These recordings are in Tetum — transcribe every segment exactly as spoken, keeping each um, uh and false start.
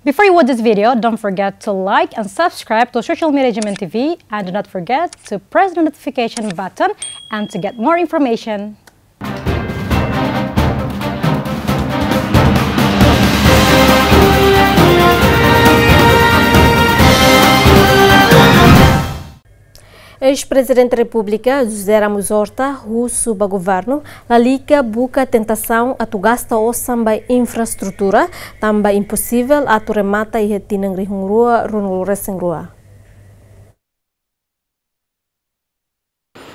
Before you watch this video, don't forget to like and subscribe to Social Media G M N T V, and do not forget to press the notification button and to get more information. Eis-Prezidente Repúblika José Ramos Horta husu ba governu lalika buka tentasaun atu gasta osan ba infraestrutura, tanba imposivel atu remata iha tinan rihun rua ruanulu resin rua.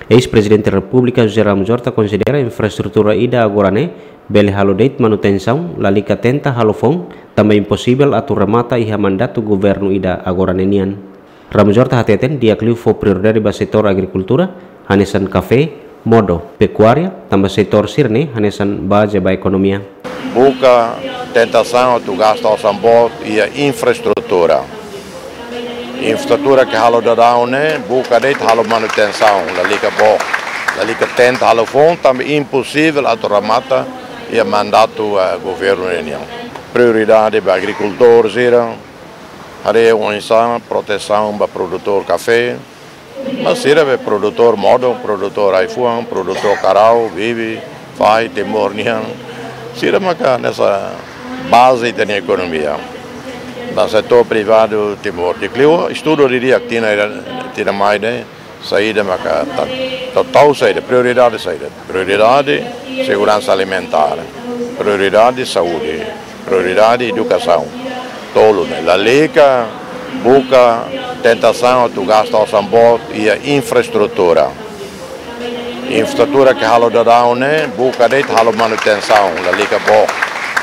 Eis-Prezidente Repúblika José Ramos Horta konsidera infraestrutura ida agora ne'e bele halo de'it manutensaun, lalika tenta halo foun, tanba imposivel atu remata iha mandatu governu ida agora ne'e nian. Ramos Horta hateten di'ak liu fó prioridade ba setór agrikultura, hanesan kafé, modo, pekuária, tanba setór sira-ne'e hanesan baze ba ekonomia. Buka tentasaun atu gasta osan boot iha infraestrutura. Infraestrutura ke halo daudaun ne'e, buka de'it halo manutensaun, lalika boot, lalika tenta halo foun, tanba imposivel atu remata iha mandatu, eh, governu ne'e nian. Prioridade ba agrikultór sira, haree oinsá protesaun ba produtór kafé, mas sira be produtór modo, produtór ai-fuan, produtór karau, bibi, fai, Timor nian. Sira maka hanesan baze ita-nia ekonomia. Ba setór privadu Timor di'ak liu, estuda didi'ak tinan, tinan mai ne'e, saida maka ta-, total saida, prioridade saida. Prioridade seguransa alimentár, prioridade saúde, prioridade edukasaun. Tolu ne'e, lalika buka tentasaun atu gasta osan boot iha infraestrutura. Infraestrutura ke halo daudaun ne'e, buka de'it halo manutensaun, lalika boot,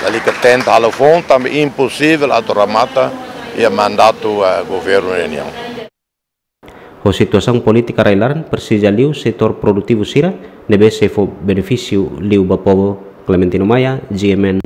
lalika tenta halo foun, tanba imposivel atu remata iha mandatu, eh, governu ne'e nian. Ho situasaun polítika rai-laran, presiza liu setór produtivu sira ne'ebé sei fó benefísiu liu ba povu. Clementino Maia, G M N,